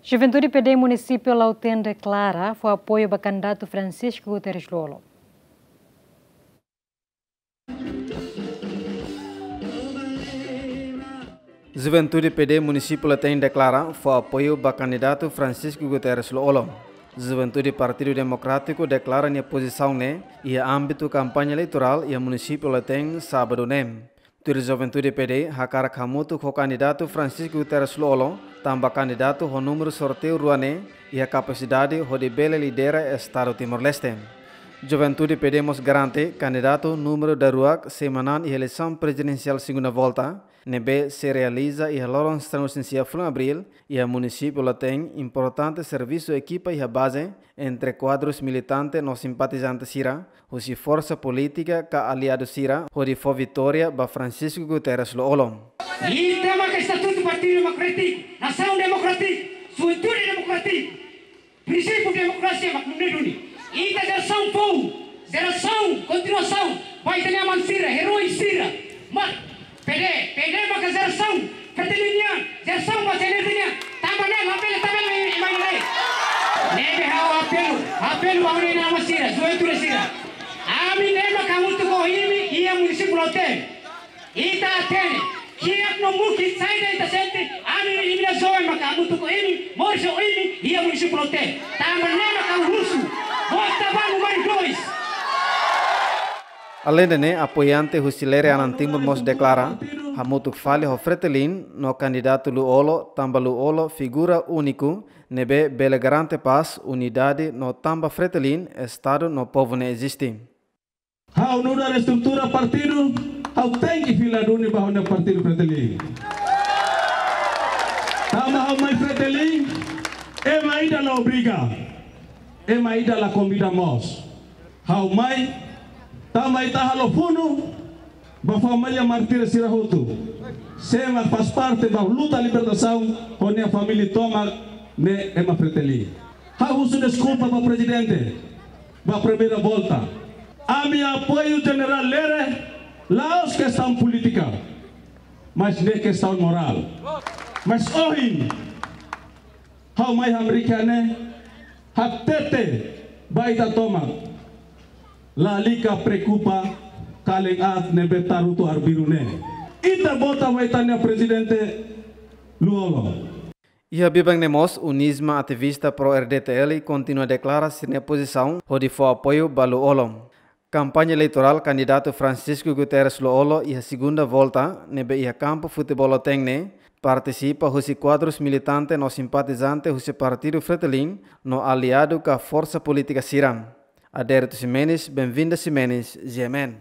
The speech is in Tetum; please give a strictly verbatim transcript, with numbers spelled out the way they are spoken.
Juventude P D Munisípiu Lautém deklara fó apoiu ba kandidatu Francisco Guterres Lú-Olo. Juventude P D Munisípiu Lautém deklara fó apoiu ba kandidatu Francisco Guterres Lú-Olo. Juventude Partidu Demokrátiku deklara nia pozisaun ne'e iha ámbitu kampaña eleitorál iha Munisípiu Lautém, sábadu ne'e. Tuir Juventude P D hakarak hamutuk ho kandidatu Francisco Guterres Lú-Olo, tanba kandidatu ho númeru sorteiu rua ne'e iha kapasidade hodi bele lidera Estadu Timor-Leste. Juventude P D mós garante kandidatu númeru daruak sei manán iha eleisaun prezidensiál segunda volta, ne'ebé sei realiza iha loron sanulu-resin-sia fulan Abríl, iha Munisípiu Lautém, importante servisu ekipa iha baze entre kuadrus militante no simpatizante sira, husi forsa polítika ka aliadu sira, hodi fó vitória ba Francisco Guterres Lú-Olo. Ita maka estatutu Partidu Demokrátiku, nasaun demokrátiku, juventude demokrátiku, prinsípiu demokrasia mak nune'e duni. Ita jerasaun foun, jerasaun kontinuasaun ba ita-nia aman sira, eroi sira. Mak P D, P D maka jerasaun Fretilin nian, jerasaun ba G N F nian. Tanba ne'e, labele, labele mai, mai, mai. Ne'ebé ha'u apelu, apelu ba ha'u-nia aman sira, juventude sira. Ami ne'e maka hamutuk ho imi iha Munisípiu Lautém. Ita hatene, kiak no mukit saida ita sente, ami-nia, imi-nia joven maka hamutuk ho imi, moris ho imi iha Munisípiu Lautém. Tanba ne'e maka husu, vota ba númeru dois. Aleinde ne'e, apoiante husi Lere Anan Timur mós deklara hamutuk fali ho Fretilin no kandidatu Lú-Olo, tanba Lú-Olo figura úniku ne'ebé bele garante pás, unidade no tanba Fretilin, Estadu no povu ne'e eziste. Ha'u nu'udar estrutura partidu, ha'u tenke fila duni ba ha'u-nia partidu Fretilin. Tanba ha'u mai Fretilin, ema ida la obriga, ema ida la konvida mós. Ha'u mai, tanba ita halo funu ba família mártir sira hotu. Sé mak faz parte ba luta libertasaun ho nia família tomak ne'e ema Fretilin. Ha'u husu deskulpa ba prezidente, ba primeira volta. Ami apoiu Jenerál Lere, la'ós kestaun polítika, mas ne'e kestaun morál. Mas ohin, ha'u mai hamriik iha ne'e, hatete ba ita tomak, lalika preokupa kalen aat ne'ebé tarutu arbiru ne'e. Ita vota ba ita-nia prezidente Lú-Olo. Iha biban ne'e mós, UNISMA, ativista pro R D T L kontinua deklara sira-nia pozisaun hodi fó apoiu ba Lú-Olo. Kampaña eleitorál kandidatu Francisco Guterres Lú-Olo iha segunda volta, ne'ebé iha kampu futeból Lautém ne'e, partisipa husi kuadrus militante no simpatizante husi partidu Fretilin no aliadu ka forsa polítika sira. Adérito Ximenes, Benvinda Ximenes, G M N.